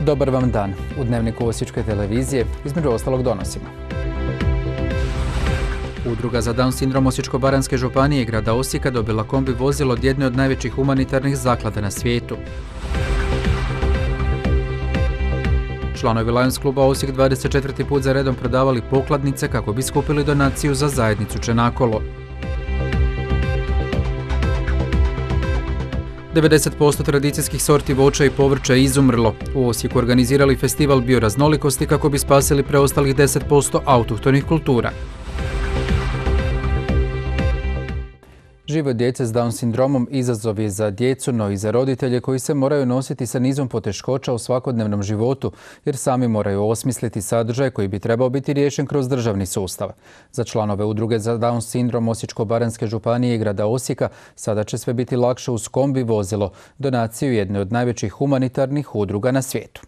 Dobar vam dan. U Dnevniku Osječke televizije između ostalog donosimo. Udruga za Down sindrom Osječko-baranjske županije i grada Osijeka dobila kombi vozilo od jedne od najvećih humanitarnih zaklada na svijetu. Članovi Lions kluba Osijek 24. put za redom prodavali pokladnice kako bi skupili donaciju za zajednicu Čenakolo. 90% tradicijskih sorti voća i povrća je izumrlo. U Osijeku organizirali festival bioraznolikosti kako bi spasili preostalih 10% autohtonih kultura. Život djece s Down sindromom izazov je za djecu, no i za roditelje koji se moraju nositi sa nizom poteškoća u svakodnevnom životu, jer sami moraju osmisliti sadržaj koji bi trebao biti riješen kroz državni sustav. Za članove Udruge za Down sindrom Osječko-baranjske županije i grada Osijeka sada će sve biti lakše uz kombi vozilo, donaciju jedne od najvećih humanitarnih udruga na svijetu.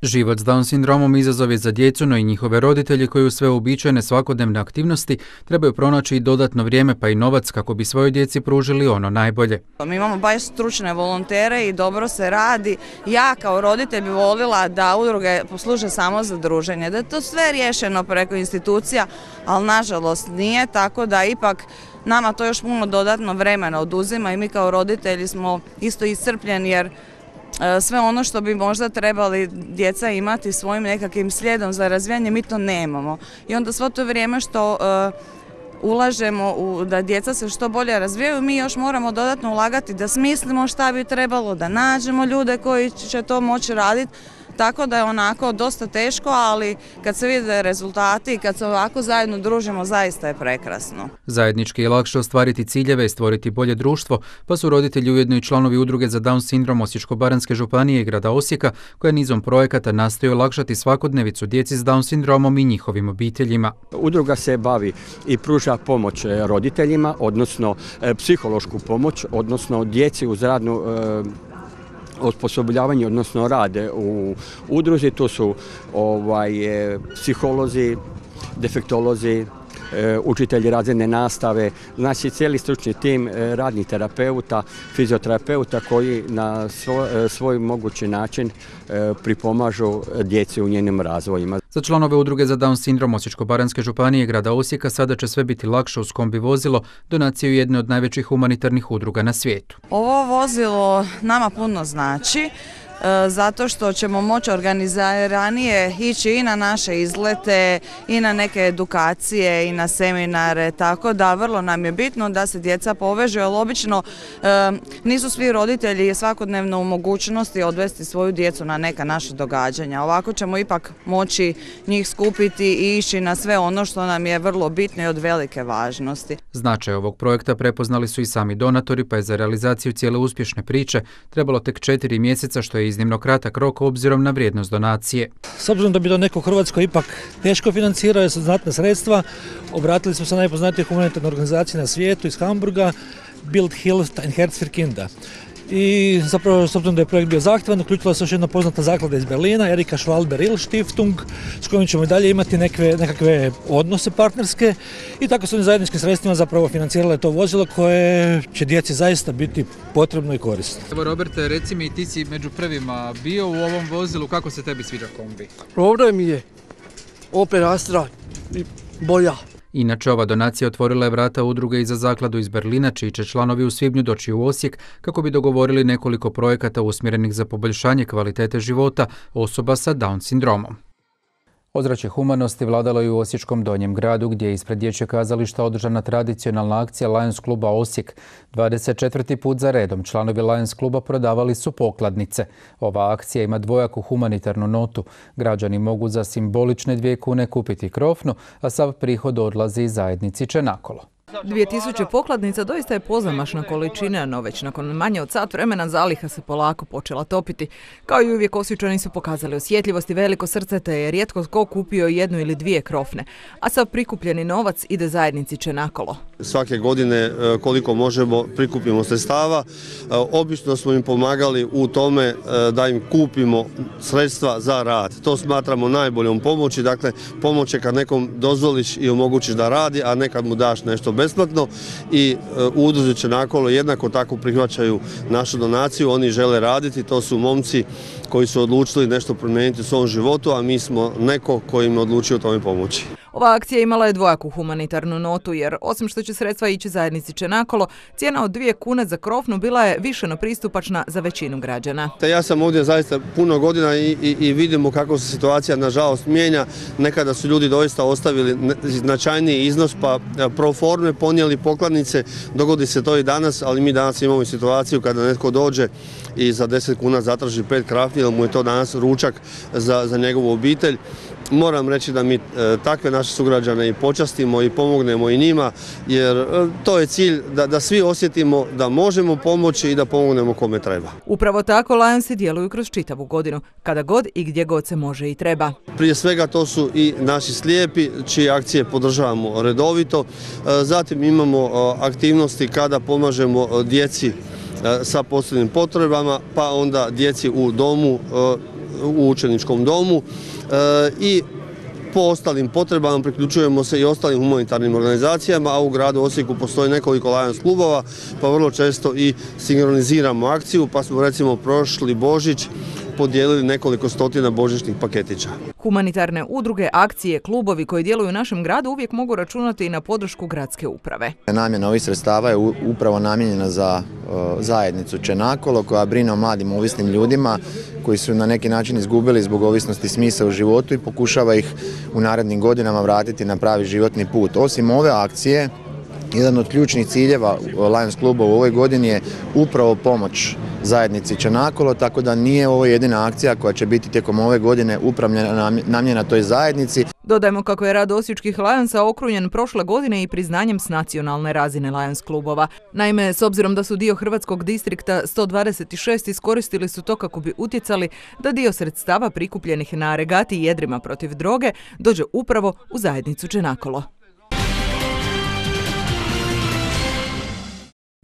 Život s Down sindromom izazov je za djecu, no i njihove roditelje koji u sve uobičajene svakodnevne aktivnosti trebaju pronaći i dodatno vrijeme pa i novac kako bi svojoj djeci pružili ono najbolje. Mi imamo baš stručne volontere i dobro se radi. Ja kao roditelj bi volila da udruge posluže samo za druženje, da je to sve riješeno preko institucija, ali nažalost nije, tako da ipak nama to još puno dodatno vremena oduzima i mi kao roditelji smo isto iscrpljeni jer sve ono što bi možda trebali djeca imati svojim nekakvim slijedom za razvijanje, mi to nemamo. I onda svo to vrijeme što ulažemo da djeca se što bolje razvijaju, mi još moramo dodatno ulagati da smislimo šta bi trebalo, da nađemo ljude koji će to moći raditi. Tako da je onako dosta teško, ali kad se vide rezultati i kad se ovako zajedno družimo, zaista je prekrasno. Zajednički je lakše ostvariti ciljeve i stvoriti bolje društvo, pa su roditelji ujedno i članovi Udruge za Down sindrom Osječko-baranjske županije i grada Osijeka, koja nizom projekata nastoji olakšati svakodnevicu djeci s Down sindromom i njihovim obiteljima. Udruga se bavi i pruža pomoć roditeljima, odnosno psihološku pomoć, odnosno djeci uz radnu osposobljavanje, odnosno rade u udruzi. To su psiholozi, defektolozi, učitelji razredne nastave, znači cijeli stručni tim radnih terapeuta, fizioterapeuta koji na svoj mogući način pripomažu djeci u njenim razvojima. Za članove Udruge za Down sindrom Osječko-baranjske županije i grada Osijeka sada će sve biti lakše uz kombi vozilo, donaciju jedne od najvećih humanitarnih udruga na svijetu. Ovo vozilo nama puno znači, zato što ćemo moći organiziranije ići i na naše izlete i na neke edukacije i na seminare, tako da vrlo nam je bitno da se djeca povežu, jer obično nisu svi roditelji svakodnevno u mogućnosti odvesti svoju djecu na neka naša događanja. Ovako ćemo ipak moći njih skupiti i ići na sve ono što nam je vrlo bitno i od velike važnosti. Značaj ovog projekta prepoznali su i sami donatori, pa je za realizaciju cijele uspješne priče trebalo tek 4 mjeseca, što je iznimno kratak rok obzirom na vrijednost donacije. S obzirom da bi to neko u Hrvatskoj ipak teško financirao, jer su znatna sredstva, obratili smo se najpoznatije humanitarne organizacije na svijetu iz Hamburga, Bild Hilfe and Herzfirkinder. I zapravo, s obzirom da je projekt bio zahtjevan, uključila se još jedna poznata zaklada iz Berlina, Erika Schwalbe-Rill Stiftung, s kojom ćemo i dalje imati nekakve odnose partnerske, i tako su oni zajedničkim sredstvima zapravo financirale to vozilo koje će djeci zaista biti potrebno i korisno. Evo Roberte, reci mi, ti si među prvima bio u ovom vozilu, kako se tebi sviđa kombi? Dobro mi je, Opel Astra i bolja. Inače, ova donacija otvorila je vrata udruge i za zakladu iz Berlina, čiji će članovi u svibnju doći u Osijek kako bi dogovorili nekoliko projekata usmjerenih za poboljšanje kvalitete života osoba sa Down sindromom. Ozračje humanosti vladalo i u Osječkom Donjem gradu, gdje je ispred dječjeg kazališta održana tradicionalna akcija Lions kluba Osijek. 24. put za redom članovi Lions kluba prodavali su pokladnice. Ova akcija ima dvojaku humanitarnu notu. Građani mogu za simbolične 2 kune kupiti krofnu, a sav prihod odlazi zajednici Čenakolo. 2000 pokladnica doista je pozamašna količina, no već nakon manje od sat vremena zaliha se polako počela topiti. Kao i uvijek, Osječani su pokazali osjetljivost i veliko srce, te je rijetko tko kupio 1 ili 2 krofne. A sav prikupljeni novac ide zajednici Čenakolo. Svake godine koliko možemo prikupimo sredstava. Obično smo im pomagali u tome da im kupimo sredstva za rad. To smatramo najboljom pomoći. Dakle, pomoć je kad nekom dozvoliš i omogućiš da radi, a nekad mu daš nešto besplatno i u udruzi Čenakolo jednako tako prihvaćaju našu donaciju. Oni žele raditi, to su momci koji su odlučili nešto promijeniti u svom životu, a mi smo neko koji im odlučio o tome pomoći. Ova akcija imala je dvojaku humanitarnu notu jer osim što će sredstva ići zajednici Čenakolo, cijena od 2 kune za krofnu bila je više no pristupačna za većinu građana. Ja sam ovdje zaista puno godina i vidimo kako se situacija nažalost mijenja. Nekada su ljudi doista ostavili značajniji iznos pa pro forme ponijeli pokladnice. Dogodi se to i danas, ali mi danas imamo situaciju kada netko dođe i za 10 kuna zatraži 5 krafni, jer mu je to danas ručak za njegovu obitelj. Moram reći da mi takve naše sugrađane i počastimo i pomognemo i njima, jer to je cilj da svi osjetimo da možemo pomoći i da pomognemo kome treba. Upravo tako Lionsi djeluju kroz čitavu godinu, kada god i gdje god se može i treba. Prije svega to su i naši slijepi, čije akcije podržavamo redovito. Zatim imamo aktivnosti kada pomažemo djeci sa posebnim potrebama, pa onda djeci u domu, u učeničkom domu i po ostalim potrebama priključujemo se i ostalim humanitarnim organizacijama, a u gradu Osijeku postoji nekoliko Lions klubova, pa vrlo često i sinkroniziramo akciju, pa smo recimo prošli Božić podijelili nekoliko stotina božićnih paketića. Humanitarne udruge, akcije, klubovi koji djeluju u našem gradu uvijek mogu računati i na podršku gradske uprave. Namjena ovih sredstava je upravo namijenjena za zajednicu Čenakolo koja brine o mladim ovisnim ljudima koji su na neki način izgubili zbog ovisnosti smisla u životu i pokušava ih u narednim godinama vratiti na pravi životni put. Osim ove akcije, jedan od ključnih ciljeva Lions kluba u ovoj godini je upravo pomoć zajednici Čenakolo, tako da nije ovo jedina akcija koja će biti tijekom ove godine upravo namijenjena toj zajednici. Dodajmo kako je rad osječkih Lionsa okrunjen prošle godine i priznanjem s nacionalne razine Lions klubova. Naime, s obzirom da su dio Hrvatskog distrikta 126 iskoristili su to kako bi utjecali da dio sredstava prikupljenih na regati Jedrima protiv droge dođe upravo u zajednicu Čenakolo.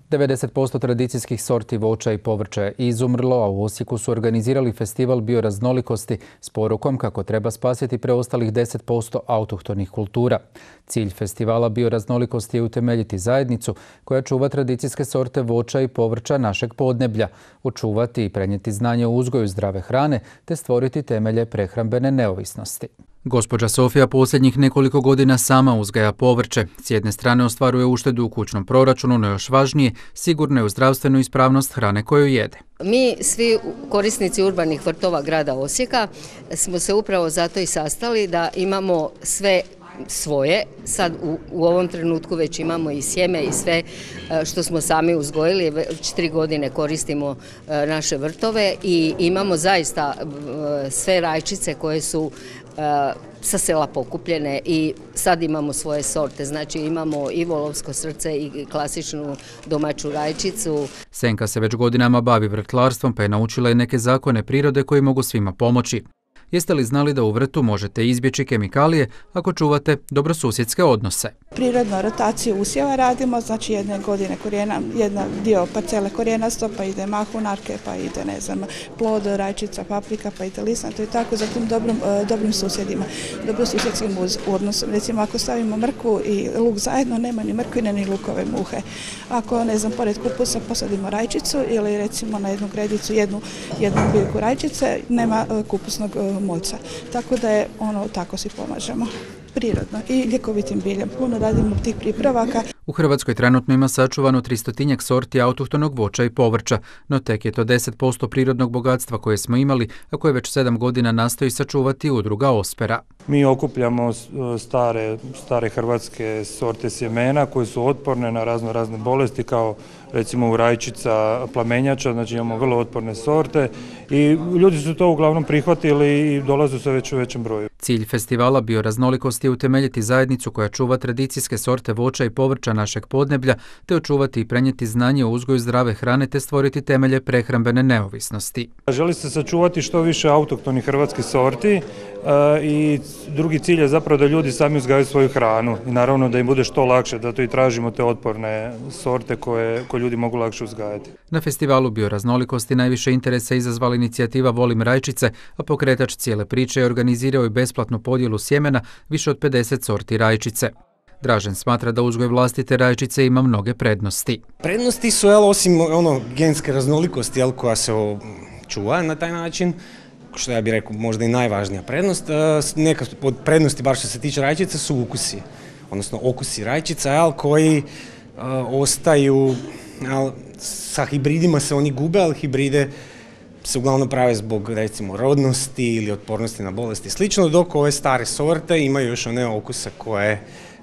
90% tradicijskih sorti voća i povrća je izumrlo, a u Osijeku su organizirali festival bioraznolikosti s porukom kako treba spasiti preostalih 10% autohtonih kultura. Cilj festivala bioraznolikosti je utemeljiti zajednicu koja čuva tradicijske sorte voća i povrća našeg podneblja, očuvati i prenijeti znanje o uzgoju zdrave hrane te stvoriti temelje prehrambene neovisnosti. Gospođa Sofija posljednjih nekoliko godina sama uzgaja povrće. S jedne strane ostvaruje uštedu u kućnom proračunu, no još važnije, sigurno je u zdravstvenu ispravnost hrane koju jede. Mi svi korisnici urbanih vrtova grada Osijeka smo se upravo zato i sastali da imamo sve svoje. Sad u ovom trenutku već imamo i sjeme i sve što smo sami uzgojili. Već 3 godine koristimo naše vrtove i imamo zaista sve rajčice koje su sa sela pokupljene i sad imamo svoje sorte. Znači imamo i volovsko srce i klasičnu domaću rajčicu. Senka se već godinama bavi vrtlarstvom pa je naučila i neke zakone prirode koji mogu svima pomoći. Jeste li znali da u vrtu možete izbjeći kemikalije ako čuvate dobrosusjedske odnose? Prirodnu rotaciju usjeva radimo, znači jedne godine korijena, jedan dio parcele korijenasto, pa ide mahunarke, pa ide plod, rajčica, paprika, pa ide lisnato i tako za tim dobrim susjedima, dobrosusjedskim odnosom. Recimo ako stavimo mrkvu i luk zajedno, nema ni mrkvine ni lukove muhe. Ako pored kupusa posadimo rajčicu ili recimo na jednu gredicu jednu biljku rajčice, nema kupusnog moljca. Tako da je tako si pomažemo. Prirodno i ljekovitim biljem. Puno radimo tih pripravaka. U Hrvatskoj trenutno ima sačuvano 300-tinjak sorti autohtonog voća i povrća, no tek je to 10% prirodnog bogatstva koje smo imali, a koje već 7 godina nastoji sačuvati udruga Ospera. Mi okupljamo stare hrvatske sorte sjemena koje su otporne na razne bolesti kao recimo rajčica, plamenjača, znači imamo vrlo otporne sorte i ljudi su to uglavnom prihvatili i dolaze sve već u većem broju. Cilj festivala bioraznolikosti je utemeljiti zajednicu koja čuva tradicijske sorte voća i povrća našeg podneblja, te očuvati i prenijeti znanje o uzgoju zdrave hrane te stvoriti temelje prehrambene neovisnosti. Želi se sačuvati što više autohtonih hrvatskih sorti i drugi cilj je zapravo da ljudi sami uzgajaju svoju hranu i naravno da im bude što lakše, zato i tražimo te otporne sorte koje ljudi mogu lakše uzgajati. Na festivalu bioraznolikosti najviše interesa izazvala inicijativa Volim rajčice, a pokretač cijele priče je organizirao i besplatnu podjelu sjemena više od 50 sorti rajčice. Dražen smatra da uzgoj vlastite rajčice ima mnoge prednosti. Prednosti su, osim genske raznolikosti koja se čuva na taj način, što ja bih rekao možda i najvažnija prednost, neka od prednosti, bar što se tiče rajčica, su ukusi. Odnosno okusi rajčica koji ostaju, sa hibridima se oni gube, ali hibride se uglavnom prave zbog recimo rodnosti ili otpornosti na bolesti i slično, dok ove stare sorte imaju još one okuse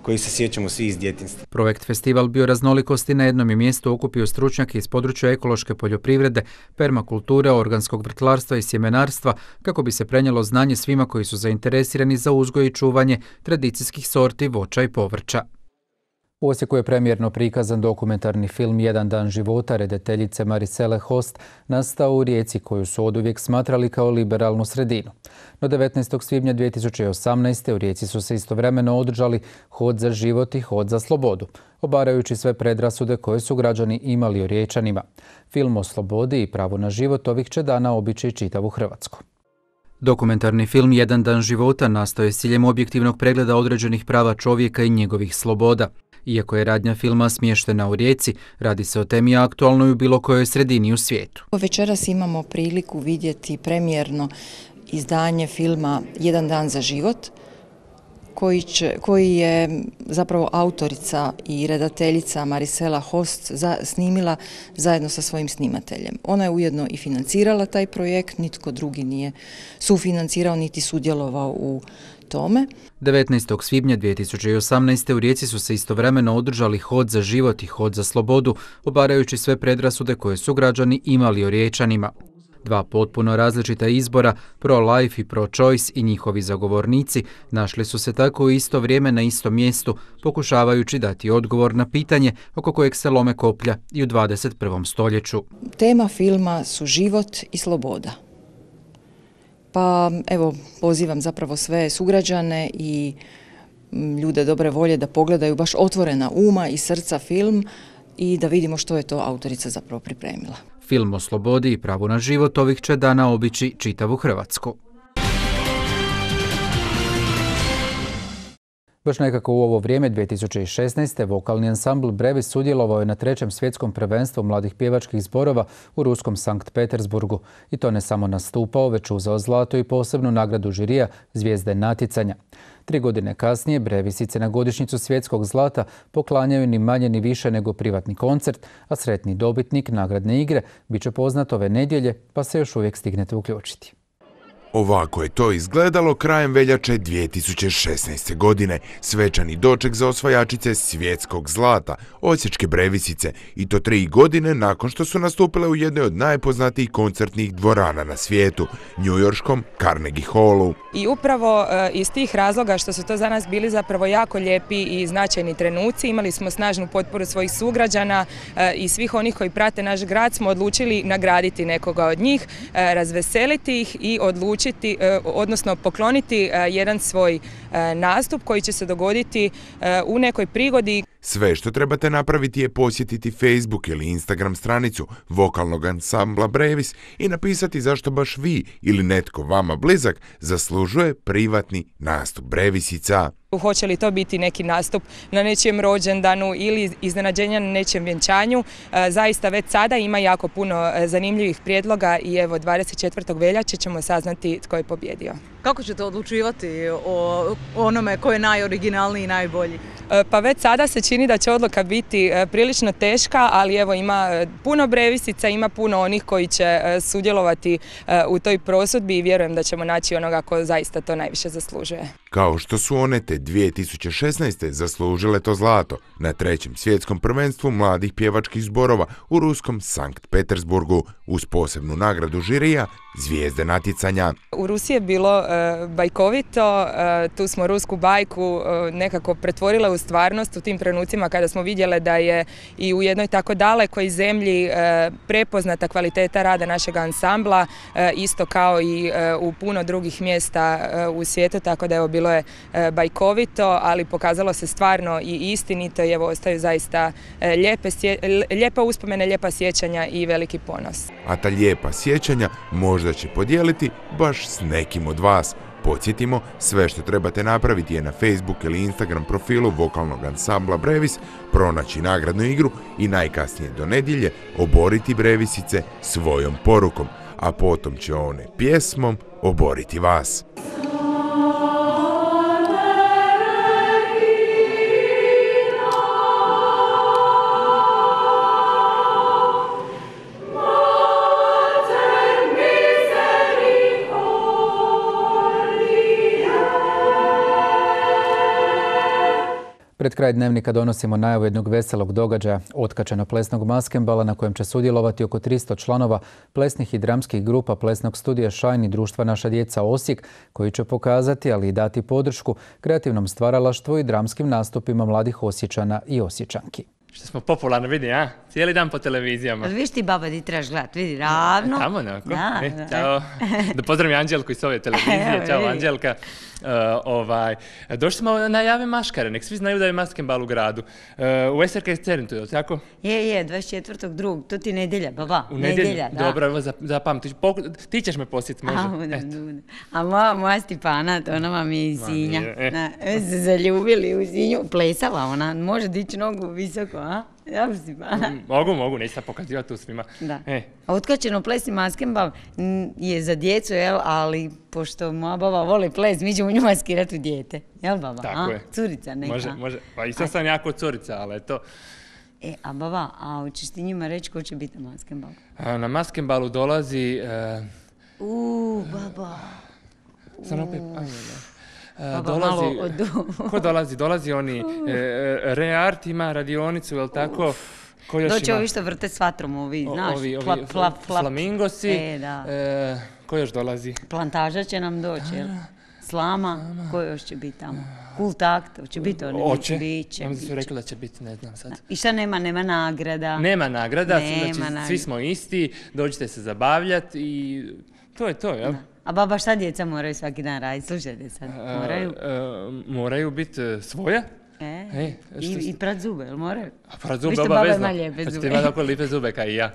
koji se sjećamo svi iz djetinjstva. Projekt Festival bioraznolikosti na jednom je mjestu okupio stručnjake iz područja ekološke poljoprivrede, permakulture, organskog vrtlarstva i sjemenarstva kako bi se prenijelo znanje svima koji su zainteresirani za uzgoj i čuvanje tradicijskih sorti voća i povrća. U Osijeku je premijerno prikazan dokumentarni film Jedan dan života redateljice Marisele Host, nastao u Rijeci koju su oduvijek smatrali kao liberalnu sredinu. No 19. svibnja 2018. u Rijeci su se istovremeno održali Hod za život i Hod za slobodu, obarajući sve predrasude koje su građani imali o Riječanima. Film o slobodi i pravu na život ovih će dana obići čitavu Hrvatsku. Dokumentarni film Jedan dan života nastao je s ciljem objektivnog pregleda određenih prava čovjeka i njegovih sloboda. Iako je radnja filma smještena u Rijeci, radi se o temi aktualnoj u bilo kojoj sredini u svijetu. Večeras imamo priliku vidjeti premijerno izdanje filma Jedan dan za život, koji je zapravo autorica i redateljica Marisela Host snimila zajedno sa svojim snimateljem. Ona je ujedno i financirala taj projekt, nitko drugi nije sufinancirao niti sudjelovao u tome. 19. svibnja 2018. u Rijeci su se istovremeno održali Hod za život i Hod za slobodu, obarajući sve predrasude koje su građani imali o Riječanima. Dva potpuno različita izbora, pro-life i pro-choice i njihovi zagovornici, našli su se tako u isto vrijeme na istom mjestu, pokušavajući dati odgovor na pitanje oko kojeg se lome koplja i u 21. stoljeću. Tema filma su život i sloboda. Pa evo, pozivam zapravo sve sugrađane i ljude dobre volje da pogledaju baš otvorena uma i srca film i da vidimo što je to autorica zapravo pripremila. Film o slobodi i pravu na život ovih će dana obići čitavu Hrvatsku. Baš nekako u ovo vrijeme 2016. vokalni ansambl Brevis sudjelovao je na 3. svjetskom prvenstvu mladih pjevačkih zborova u ruskom Sankt Petersburgu. I to ne samo nastupao, već uzeo zlato i posebnu nagradu žirija Zvijezde natjecanja. 3 godine kasnije Brevisice na godišnjicu svjetskog zlata poklanjaju ni manje ni više nego privatni koncert, a sretni dobitnik nagradne igre bit će poznat ove nedjelje, pa se još uvijek stignete uključiti. Ovako je to izgledalo krajem veljače 2016. godine. Svečani doček za osvajačice svjetskog zlata, osječke Brevisice, i to 3 godine nakon što su nastupile u jednoj od najpoznatijih koncertnih dvorana na svijetu, njujorškom Carnegie Hallu. I upravo iz tih razloga što su to za nas bili zapravo jako lijepi i značajni trenuci, imali smo snažnu potporu svojih sugrađana i svih onih koji prate naš grad, smo odlučili nagraditi nekoga od njih, razveseliti ih i odnosno pokloniti jedan svoj nastup koji će se dogoditi u nekoj prigodi. Sve što trebate napraviti je posjetiti Facebook ili Instagram stranicu vokalnog ansambla Brevis i napisati zašto baš vi ili netko vama blizak zaslužuje privatni nastup Brevisica. Hoće li to biti neki nastup na nečijem rođendanu ili iznenađenja na nečijem vjenčanju. Zaista već sada ima jako puno zanimljivih prijedloga i evo 24. veljače ćemo saznati tko je pobjedio. Kako ćete odlučivati o onome ko je najoriginalniji i najbolji? Pa već sada se čini da će odluka biti prilično teška, ali evo ima puno Brevisica, ima puno onih koji će sudjelovati u toj prosudbi i vjerujem da ćemo naći onoga ko zaista to najviše zaslužuje. Kao što su one te 2016. zaslužile to zlato na 3. svjetskom prvenstvu mladih pjevačkih zborova u ruskom Sankt Petersburgu uz posebnu nagradu žirija Zvijezde natjecanja. U Rusiji je bilo bajkovito, tu smo rusku bajku nekako pretvorile u stvarnost u tim trenucima kada smo vidjele da je i u jednoj tako dalekoj zemlji prepoznata kvaliteta rada našeg ansambla, isto kao i u puno drugih mjesta u svijetu, tako da evo bilo je bajkovito, ali pokazalo se stvarno i istinito i evo ostaju zaista lijepa uspomene, lijepa sjećanja i veliki ponos. A ta lijepa sjećanja možda će podijeliti baš s nekim od vas. Podsjetimo, sve što trebate napraviti je na Facebook ili Instagram profilu vokalnog ansambla Brevis pronaći nagradnu igru i najkasnije do nedjelje oboriti Brevisice svojom porukom, a potom će one pjesmom oboriti vas. Pred kraj dnevnika donosimo najavu jednog veselog događaja, otkačeno plesnog maskembala na kojem će sudjelovati oko 300 članova plesnih i dramskih grupa plesnog studija Shine i društva Naša djeca Osijek, koji će pokazati, ali i dati podršku kreativnom stvaralaštvu i dramskim nastupima mladih Osječana i Osječanki. Što smo popularni, vidi, a? Cijeli dan po televizijama. Viš ti, baba, di trebaš gledat, vidi, ravno. Tamo, onako. Ćao. Da pozdravim Anđelku iz ove televizije. Ćao, Anđelka. Došli smo na jave maškare, nek svi znaju da je maskembal u gradu. U SRK Centru, je li tako? Je, 24.2. To ti nedjelja, baba. U nedjelja, da. Dobro, evo zapamti. Ti ćeš me posjetiti, može? A moja Stipana, ona vam je iz Sinja. Se zaljubili u Sinju, plesala ona, može dići nogu visoko, a? Ja Mogu, neću sad pokazivati tu svima. Da. A otkačeno plesni maskembal je za djecu, jel, ali pošto moja baba voli ples, mi ćemo nju maskirati u dijete. Jel, baba? Tako je. Curica neka. Može. Pa i sad sam jako curica, ali eto. A baba, hoćeš ti njima reći ko će biti na maskembalu? Na maskembalu dolazi... Baba. Sam opet... Ko dolazi? Dolazi oni Reart ima radionicu, je li tako? Doći ovi što vrte s vatrom, ovi, znaš, flap. Flamingosi. Ko još dolazi? Plantaža će nam doći, jel? Slama, ko još će biti tamo? Kultakt, hoće biti oni? Hoće, oni su rekli da će biti, ne znam sad. I šta nema nagrada? Nema nagrada, znači svi smo isti, dođite se zabavljati i to je to, jel? A baba, šta djeca moraju svaki dan raditi? Slušajte sad, moraju? Moraju biti svoja. I prat zube, jel moraju? Prat zube, baba vezno. Pa ćete imati oko lipe zube kao i ja.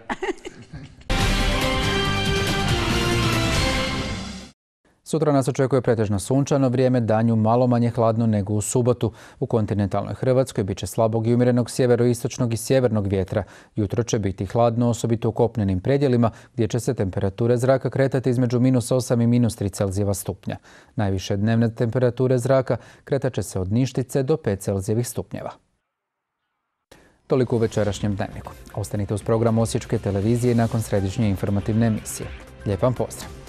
Sutra nas očekuje pretežno sunčano vrijeme, danju malo manje hladno nego u subotu. U kontinentalnoj Hrvatskoj bit će slabog i umjerenog sjeveroistočnog i sjevernog vjetra. Jutro će biti hladno, osobito u kopnenim predjelima, gdje će se temperature zraka kretati između -8 i -3 Celzijeva stupnja. Najviše dnevne temperature zraka kretat će se od Ništice do 5 Celzijevih stupnjeva. Toliko u večerašnjem dnevniku. Ostanite uz program Osječke televizije nakon središnje informativne emisije. Lijep vam pozdrav!